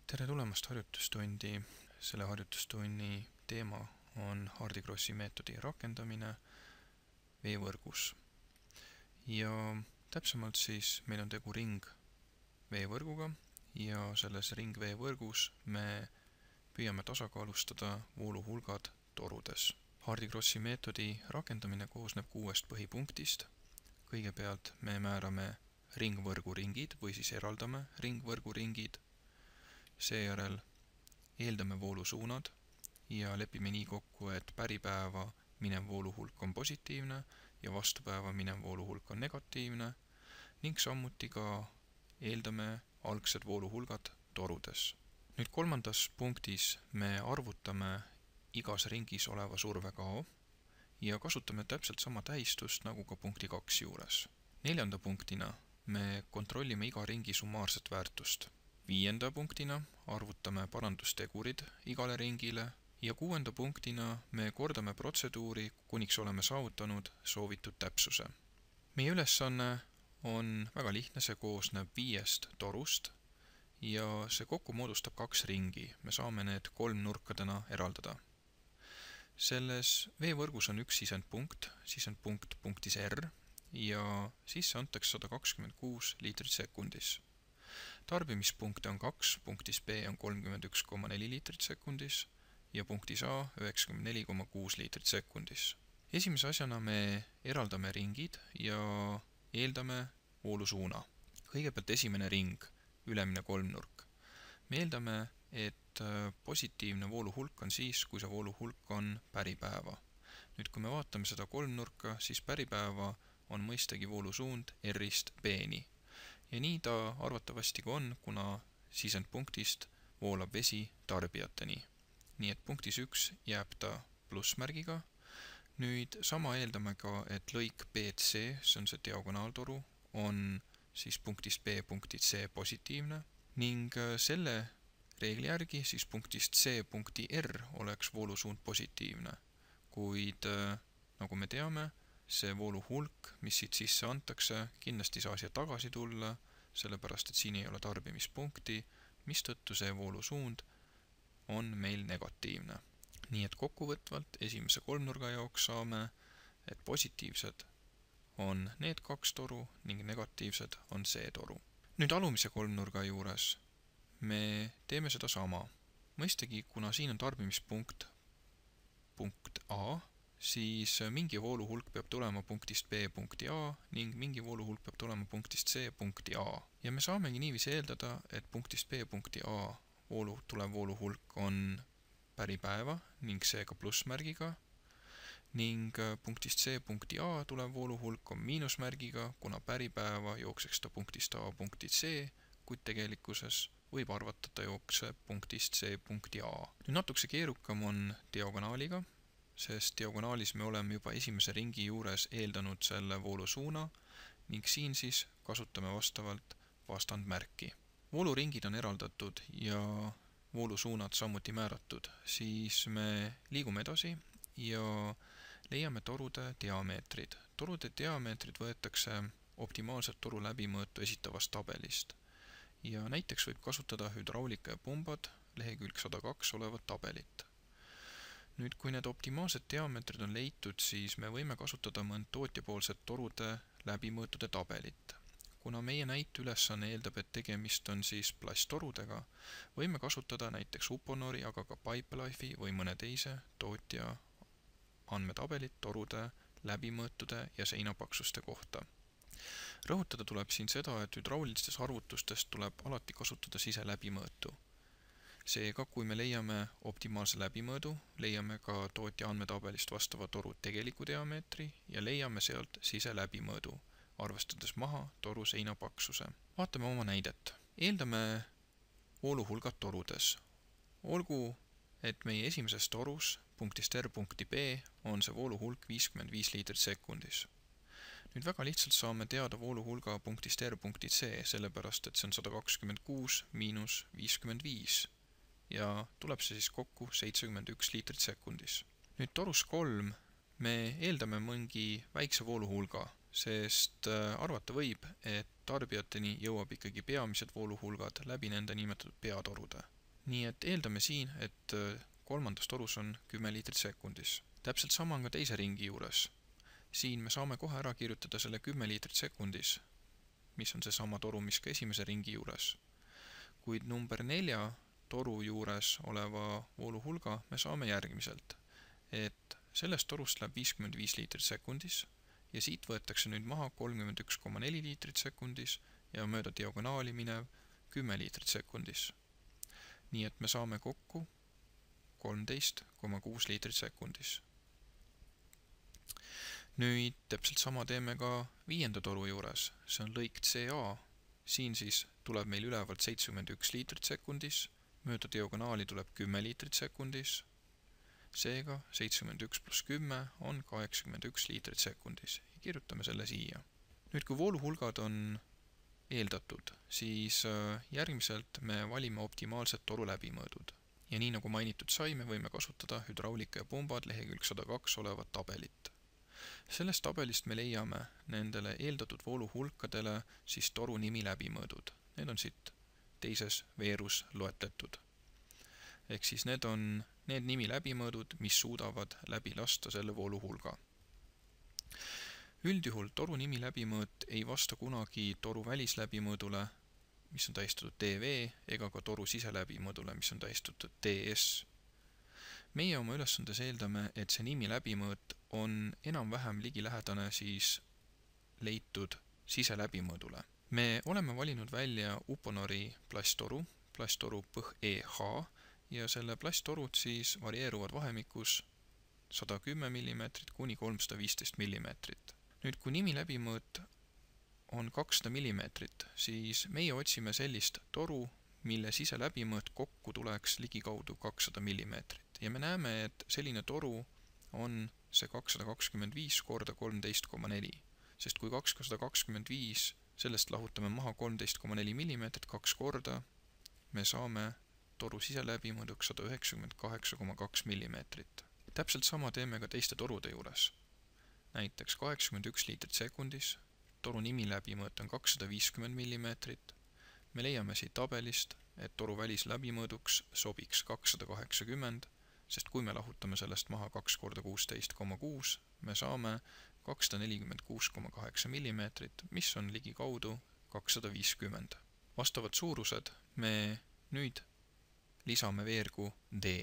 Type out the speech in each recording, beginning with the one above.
Tere tulemast harjutustundi. Selle harjutustunni teema on Hardy Grossi meetodi rakendamine veevõrgus. Ja täpsemalt siis meil on tegu ringveevõrguga ja selles ringveevõrgus me püüame tasakaalustada vooluhulgad torudes. Hardy Grossi meetodi rakendamine koosneb 6 põhipunktist. Kõigepealt me määrame ringvõrgu ringid või siis eraldame ringvõrgu ringid. Seejärel eeldame voolusuunad ja lepime nii kokku, et päripäeva minev vooluhulk on positiivne ja vastupäeva minev vooluhulk on negatiivne ning samuti ka eeldame algsed vooluhulgad torudes. Nüüd 3. punktis me arvutame igas ringis oleva surve kao ja kasutame täpselt sama tähistust nagu ka punkti 2 juures. 4. punktina me kontrollime iga ringi summaarset väärtust. 5. punktina arvutame parandustegurid igale ringile ja 6. punktina me kordame protseduuri, kuniks oleme saavutanud soovitud täpsuse. Meie ülesanne on väga lihtne, see koosneb 5 torust ja see kokku moodustab 2 ringi. Me saame need 3 nurkadena eraldada. Selles veevõrgus on üks sisendpunkt punktis R ja sisse antakse 126 liitrit sekundis. Tarbimispunkte on 2, punktis B on 31,4 liitrit sekundis ja punktis A 94,6 liitrit sekundis. Esimese asjana me eraldame ringid ja eeldame voolusuuna. Kõigepealt esimene ring, ülemine kolmnurk. Me eeldame, et positiivne vooluhulk on siis, kui see vooluhulk on päripäeva. Nüüd, kui me vaatame seda kolmnurka, siis päripäeva on mõistagi voolusuund R-ist B-ni. Ja nii ta arvatavasti ka on, kuna sisendpunktist voolab vesi tarbijateni. Nii et punktis 1 jääb ta plussmärgiga. Nüüd sama eeldame ka, et lõik BC, see on see diagonaaltoru, on siis punktist B punkti C positiivne ning selle reegli järgi siis punktist C punkti R oleks voolusuund positiivne. Kuid nagu me teame, see vooluhulk, mis siit sisse antakse, kindlasti saa siia tagasi tulla, sellepärast, et siin ei ole tarbimispunkti, mistõttu see voolusuund on meil negatiivne. Nii et kokkuvõtvalt esimese kolmnurga jaoks saame, et positiivsed on need 2 toru ning negatiivsed on see toru. Nüüd alumise kolmnurga juures me teeme seda sama. Mõistagi, kuna siin on tarbimispunkt punkt A, siis mingi vooluhulk peab tulema punktist B punkti A ning mingi vooluhulk peab tulema punktist C punkti A. Ja me saamegi niiviisi eeldada, et punktist B punkti A tulev vooluhulk on päripäeva ning seega plussmärgiga ning punktist C punkti A tulev vooluhulk on miinusmärgiga, kuna päripäeva jookseks ta punktist A punkti C, kuid tegelikkuses võib arvata, ta jookseb punktist C punkti A. Nüüd natukese keerukam on diagonaaliga, sest diagonaalis me oleme juba esimese ringi juures eeldanud selle voolusuuna ning siin siis kasutame vastavalt vastandmärki. Vooluringid on eraldatud ja voolusuunad samuti määratud, siis me liigume edasi ja leiame torude diameetrid. Torude diameetrid võetakse optimaalselt toru läbimõõtu esitavast tabelist ja näiteks võib kasutada hüdraulika ja pumbad lehekülg 102 olevat tabelit. Nüüd, kui need optimaalsed diameetrid on leitud, siis me võime kasutada mõnd tootjapoolset torude läbimõõtude tabelit. Kuna meie näiteülesanne eeldab, et tegemist on siis plasttorudega, võime kasutada näiteks Uponori, aga ka Pipelife'i või mõne teise tootja andmetabelit torude läbimõõtude ja seinapaksuste kohta. Rõhutada tuleb siin seda, et hüdraulilistes arvutustes tuleb alati kasutada siseläbimõõtu. Seega, kui me leiame optimaalse läbimõõdu, leiame ka tootja andmetabelist vastava toru tegeliku diameetri ja leiame sealt siseläbimõõdu, arvestades maha toru seinapaksuse. Vaatame oma näidet. Eeldame vooluhulgad torudes. Olgu, et meie esimeses torus punktist R punkti B on see vooluhulk 55 liitrit sekundis. Nüüd väga lihtsalt saame teada vooluhulga punktist R punkti C, sellepärast et see on 126 miinus 55 ja tuleb see siis kokku 71 liitrit sekundis. Nüüd torus 3 me eeldame mõngi väikse vooluhulga, sest arvata võib, et tarbijateni jõuab ikkagi peamised vooluhulgad läbi nende nimetatud peatorude. Nii et eeldame siin, et kolmandas torus on 10 liitrit sekundis. Täpselt sama on ka teise ringi juures. Siin me saame kohe ära kirjutada selle 10 liitrit sekundis, mis on see sama toru, mis ka esimese ringi juures. Kuid number 4 toru juures oleva vooluhulga me saame järgmiselt, et sellest torust läheb 55 liitrit sekundis ja siit võetakse nüüd maha 31,4 liitrit sekundis ja mööda diagonaali minev 10 liitrit sekundis. Nii et me saame kokku 13,6 liitrit sekundis. Nüüd täpselt sama teeme ka 5. toru juures, see on lõik CA. Siin siis tuleb meil ülevalt 71 liitrit sekundis, mööda diagonaali tuleb 10 liitrit sekundis, seega 71 pluss 10 on 81 liitrit sekundis ja kirjutame selle siia. Nüüd kui vooluhulgad on eeldatud, siis järgmiselt me valime optimaalsed toru läbimõõdud. Ja nii nagu mainitud sai, me võime kasutada hüdraulika ja pumbad lehekülg 102 olevat tabelit. Sellest tabelist me leiame nendele eeldatud vooluhulkadele siis toru nimi läbimõõdud. Need on siit teises veerus loetletud. Ehk siis need on need nimi läbimõõdud, mis suudavad läbi lasta selle vooluhulga. Üldjuhul toru nimi läbimõõt ei vasta kunagi toru välisläbimõõdule, mis on tähistatud DV, ega ka toru siseläbimõõdule, mis on tähistatud DS. Meie oma ülesandes eeldame, et see nimi läbimõõt on enam-vähem ligilähedane siis leitud siseläbimõõdule. Me oleme valinud välja Uponori plasttoru põh EH ja selle plasttorud siis varieeruvad vahemikus 110 mm kuni 315 mm. Nüüd, kui nimi läbimõõt on 200 mm, siis meie otsime sellist toru, mille siseläbimõõt kokku tuleks ligikaudu 200 mm. Ja me näeme, et selline toru on see 225 korda 13,4, sest kui 225 sellest lahutame maha 13,4 mm 2 korda, me saame toru siseläbimõõduks 198,2 mm. Täpselt sama teeme ka teiste torude juures. Näiteks 81 liitrit sekundis, toru nimi läbimõõt on 250 mm. Me leiame siit tabelist, et toru välisläbimõõduks sobiks 280, sest kui me lahutame sellest maha 2 korda 16,6, me saame 246,8 mm, mis on ligikaudu 250. Vastavad suurused me nüüd lisame veergu D.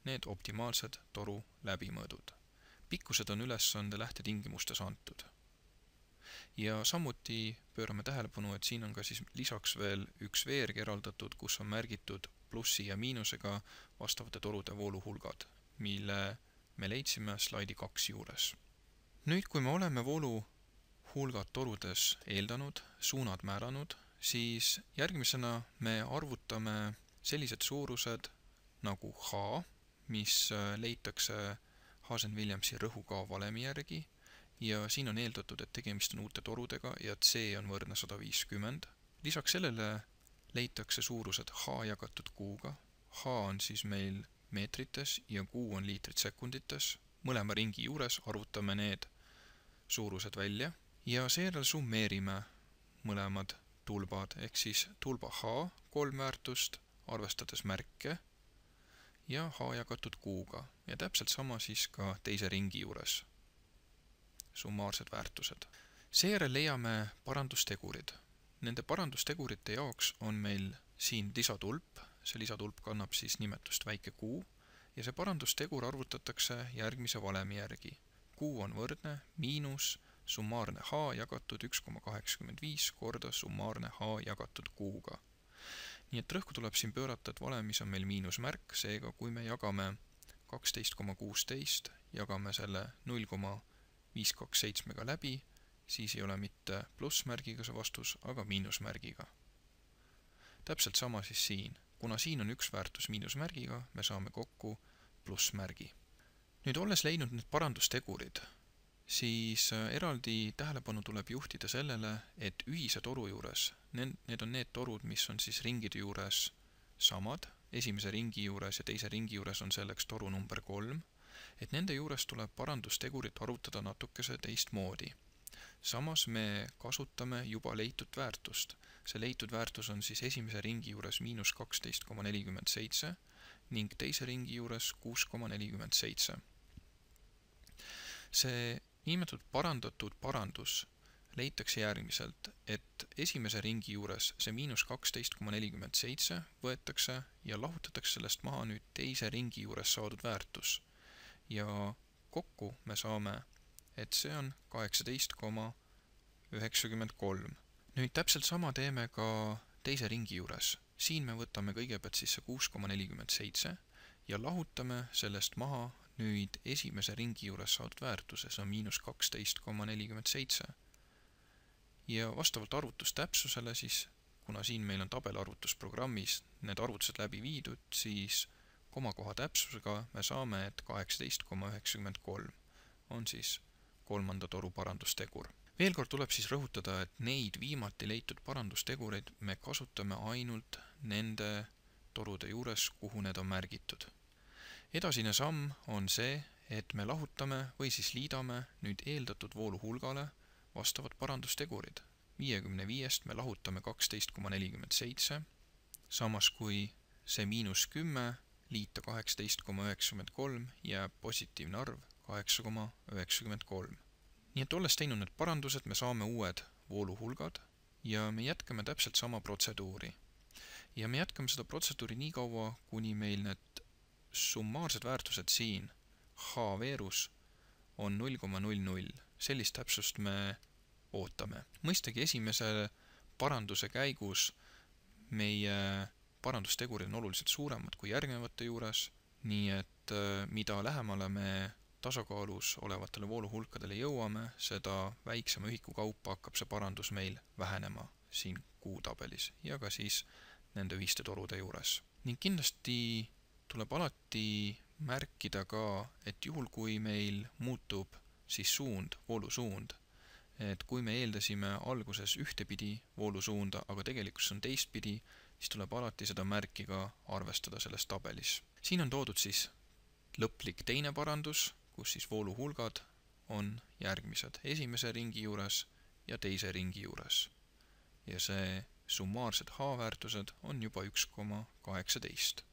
Need optimaalsed toru läbimõõdud. Pikkused on ülesande lähtetingimustes antud. Ja samuti pöörame tähelepanu, et siin on ka siis lisaks veel üks veerg eraldatud, kus on märgitud plussi ja miinusega vastavate torude vooluhulgad, mille me leidsime slaidi 2 juures. Nüüd, kui me oleme vooluhulgad torudes eeldanud, suunad määranud, siis järgmisena me arvutame sellised suurused nagu H, mis leitakse Hazen-Williamsi rõhukaa valemi järgi ja siin on eeldatud, et tegemist on uute torudega ja C on võrdne 150. Lisaks sellele leitakse suurused H jagatud Q-ga. H on siis meil meetrites ja Q on liitrit sekundites. Mõlema ringi juures arvutame need suurused välja ja seejärel summeerime mõlemad tulbad, ehk siis tulba H 3 väärtust, arvestades märke ja H jagatud Q-ga ja täpselt sama siis ka teise ringi juures. Summaarsed väärtused. Seejärel leiame parandustegurid. Nende parandustegurite jaoks on meil siin lisatulp. See lisatulp kannab siis nimetust väike Q ja see parandustegur arvutatakse järgmise valemi järgi. Q on võrdne miinus summaarne H jagatud 1,85 korda summaarne H jagatud Q-ga. Nii et rõhku tuleb siin pöörata, et valemis on meil miinusmärk, seega kui me jagame 12,16, jagame selle 0,527 läbi, siis ei ole mitte plussmärgiga see vastus, aga miinusmärgiga. Täpselt sama siis siin. Kuna siin on üks väärtus miinusmärgiga, me saame kokku plussmärgi. Nüüd olles leidnud need parandustegurid, siis eraldi tähelepanu tuleb juhtida sellele, et ühise toru juures, need on need torud, mis on siis ringide juures samad, esimese ringi juures ja teise ringi juures on selleks toru number 3, et nende juures tuleb parandustegurit arvutada natukese teistmoodi. Samas me kasutame juba leitud väärtust. see leitud väärtus on siis esimese ringi juures -12,47 ning teise ringi juures 6,47. See niinimetatud parandatud parandus leitakse järgmiselt, et esimese ringi juures see -12,47 võetakse ja lahutatakse sellest maha nüüd teise ringi juures saadud väärtus. Ja kokku me saame, et see on 18,93. Nüüd täpselt sama teeme ka teise ringi juures. Siin me võtame kõigepealt siis see 6,47 ja lahutame sellest maha nüüd esimese ringi juures saadud väärtuse, see on -12,47. Ja vastavalt arvutustäpsusele siis, kuna siin meil on tabelarvutusprogrammis need arvutused läbi viidud, siis komakoha täpsusega me saame, et 18,93 on siis kolmanda toru parandustegur. Veel kord tuleb siis rõhutada, et neid viimati leitud parandustegureid me kasutame ainult nende torude juures, kuhu need on märgitud. Edasine samm on see, et me lahutame või siis liidame nüüd eeldatud voolu hulgale vastavad parandustegurid. 55-st me lahutame 12,47, samas kui see -10 liita 18,93 jääb positiivne arv 8,93. Nii et olles teinud need parandused, me saame uued vooluhulgad ja me jätkame täpselt sama protseduuri. Ja me jätkame seda protseduuri nii kaua, kuni meil need summaarsed väärtused siin H veerus on 0,00. Sellist täpsust me ootame. Mõistagi esimese paranduse käigus meie parandustegurid on oluliselt suuremad kui järgnevate juures, nii et mida lähemale me tasakaalus olevatele vooluhulkadele jõuame, seda väiksema ühiku kaupa hakkab see parandus meil vähenema siin kuutabelis ja ka siis nende ühiste torude juures. Ning kindlasti tuleb alati märkida ka, et juhul kui meil muutub siis suund, voolusuund, et kui me eeldasime alguses ühtepidi voolusuunda, aga tegelikult see on teistpidi, siis tuleb alati seda märki ka arvestada selles tabelis. Siin on toodud siis lõplik teine parandus, kus siis vooluhulgad on järgmised esimese ringi juures ja teise ringi juures. Ja see summaarsed H-väärtused on juba 1,18.